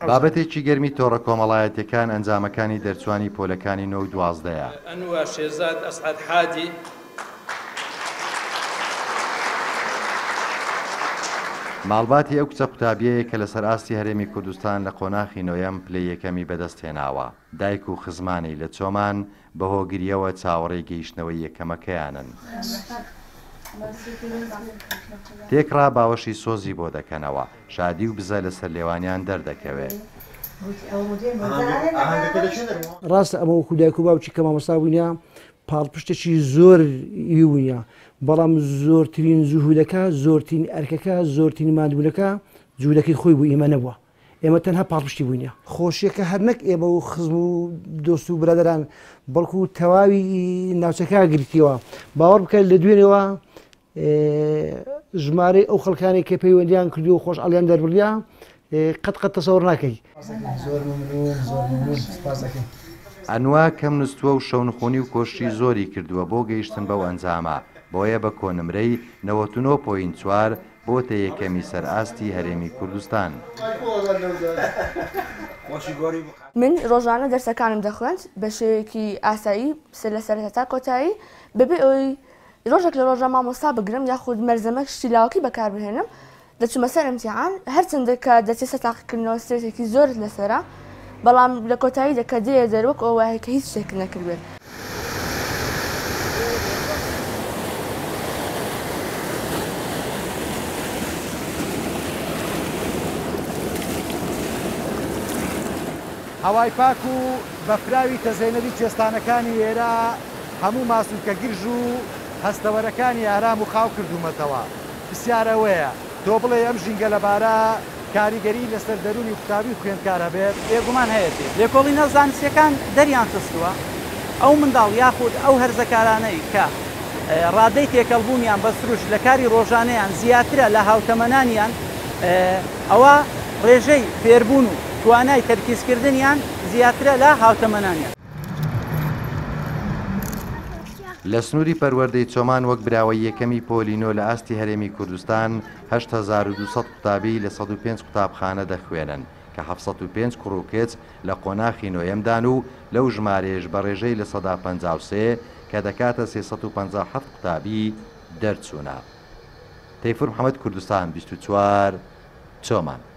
بابەتێکی گەرمی تۆڕە کۆمەڵایەتیەکان ئەنجامەکانی دەرچوانی پۆلەکانی نۆ و دوازدەیە. ئەنوا شێرزاد ئەسعەد حاجی. ماڵباتی ئەو کچە قوتابیەیە کە لەسەر ئاستی هەرێمی کوردستان لە قۆناخی نۆیەم پلەی یەکەمی بەدەست هێناوە، دایک و خزمانی لە چۆمان بە هۆگرییەوە چاوەڕێی گەیشتنەوەی یەکەمەکەیانن. تێکڕا باوەشی سۆزی بۆ دەکەنەوە، شادی و بزە لەسەر لێوانیان دەردەکەوێ. ڕاستە ئەمە وەکو دایک و باوکی کە مامۆستا بووینە پاڵپشتێکی زۆر ی بووینە، بەڵام زۆرترین جوهودەکە، زۆرترین ئەرکەکە، زۆرترین ماندووبوونەکە جوودەکەی خۆی بوو ئیمە نەبووە. ئێمە تەنها پاڵپشتی بووینە. خۆشیەکە هەر نەک ئێمە و خزم و دۆست و برادەران بەڵکو تەواوی ناوچەکە گرتیەوە. باوەڕ بکە لە دوێنێوە ژمارەی ئەو خەڵکانەی کە پەیوەندیان کردووە و خۆشحاڵیان دەربڕیە قەت قەت تەسەوڕ ناکەی. زۆر ممنون زۆر ممنون سپاس دەکەین. ئەنوا کەم نوستووە و شەونخونی و کۆششی زۆری کردووە بۆ گەیشتن بەو ئەنجامە، بۆیە بە کۆنمرەی 99 point چوار بۆتە یەکەمی سەر ئاستی هەرێمی کوردستان. من ڕۆژانە دەرسەکانم دەخوێند بە شێوەیەکی ئاسایی لە سەرەتا تا کۆتایی بەبێ ئەوەی ڕۆژێک لە ڕۆژان مامۆستا بگرم یاخود مەرزەمە شتی لاوەکی بەکاربهێنم دەچوومە سەر ئیمتیحان هەرچەندە کە دەچێت سەر تاقیکردنەوە سترێسێکی زۆرت لەسەرە بەڵام لە کۆتاییدا کە دێیە دەر وەک ئەوە وایە کە هیچ شتێکت نەکردبێت. هەوای پاک و بەفراوی تەزێنەری کوێستانەکانی ئێرە هەموو ماسولکە گرژ و هەستەوەرەکانی ئارام و خاو کردوومەتەوە. پرسیار ئەوەیە، تۆ بڵێی ئەم ژینگە لەبارە کاریگەریی لەسەر دەروونی قوتابی و خوێندکار هەبێت؟ بێگومان هەیەتی. لێکۆڵینە زانستییەکان دەریان خستووە ئەو منداڵ یاخود ئەو هەرزەکارانەی کە ڕادەی تێکەڵبوونیان بە سروشت لە کاری ڕۆژانەیان زیاترە لە هاوتەمەنانیان ئەوا ڕێژەی فێربوون و توانای تەرکیزکردنیان زیاترە لە هاوتەمەنانیان. لە سنووری پەروەردەی چۆمان وەک براوەی یەکەمی پۆلی نۆ لە ئاستی هەرێمی کوردستان 8200 قوتابی لە 105 قوتابخانە دەخوێنن کە 705 کوڕ و کچ لە قۆناخی نۆیەمدان و لەو ژمارەیەش بە ڕێژەی 53% کە دەکاتە 357 قوتابی دەرچوونە. تەیفور محەمەد کوردستان 24 چۆمان.